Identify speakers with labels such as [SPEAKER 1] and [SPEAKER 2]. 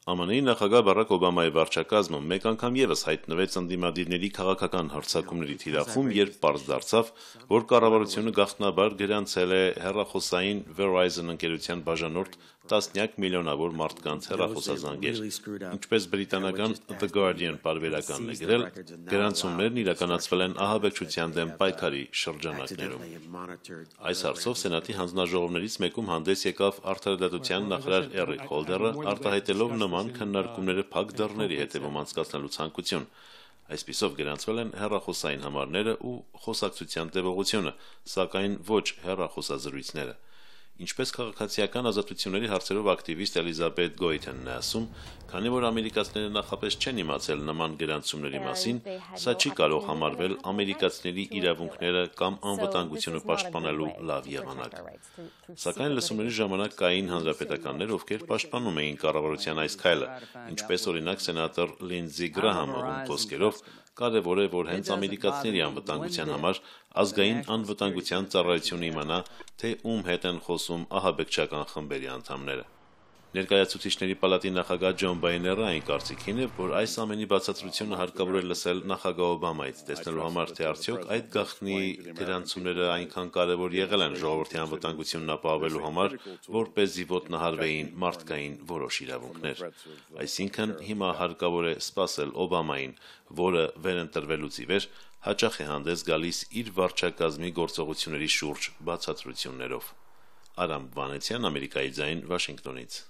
[SPEAKER 1] ԱՄՆ-ի նախագահ Բարաք Օբամայի վարչակազմը մեկ անգամ ևս հայտնվեց ընդդիմադիրների քաղաքական հարձակումների թիրախում, երբ պարզ դարձավ, որ կառավարությունը գաղտնաբար գրանցել է հեռախոսային Verizon ընկերության բաժանորդ տասնյակ միլիոնավոր մարդկանց հեռախոսազանգեր։ Ինչպես բրիտանական The Guardian պարբերականն է գրել, գրանցումներն իրականացվել են ահաբեկչության դեմ պայքարի շրջանակներում։ Այս հարցով Սենատի հանձնաժողովներից մեկում հանդես եկավ Արդարադատության նախարար Էրիկ Հոլդերը, արտահայտելով նման քննարկումները փակ դռների հետևում անցկացնելու ցանկություն։ Այսպիսով գրանցվել են հեռախոսային համարները ու խոսակցության տևողությունը, սակայն ոչ հեռախոսազրույցները։ Ինչպես քաղաքացիական ազատությունների հարցերով ակտիվիստ Էլիզաբեթ Գոյթենն է ասում, քանի որ ամերիկացիները նախապես չեն իմացել նման գրանցումների մասին, սա չի կարող համարվել ամերիկացիների իրավունքները կամ անվտանգությունը պաշտպանելու լավ եղանակ։ Սակայն լսումների ժամանակ կային հանրապետականներ, ովքեր պաշտպանում էին կառավարության այս քայլը, ինչպես օրինակ սենատոր Լինդզի Գրահամը, ում խոսքերով կարևոր է, որ հենց ամերիկացիների անվտանգության համար ազգային անվտանգության ծառայությունը իմանա, թե ում հետ են խոսում ահաբեկչական խմբերի անդամները։ Ներկայացուցիչների պալատի նախագահ Ջոն Բայները այն կարծիքին է, որ այս ամենի բացատրությունը հարկավոր է լսել նախագահ Օբամայից, տեսնելու համար, թե արդյոք այդ գաղտնի գրանցումները այնքան կարևոր եղել են ժողովրդի անվտանգությունն ապահովելու համար, որպեսզի ոտնահարվեին մարդկային որոշ իրավունքներ։ Այսինքն հիմա հարկավոր է սպասել Օբամային, որը վերընտրվելուց ի վեր հաճախ է հանդես գալիս իր վարչակազմի գործողությունների շուրջ բացատրություններով։ Արամ Վանեցյան, Ամերիկայի ձայն, Վաշինգտոնից։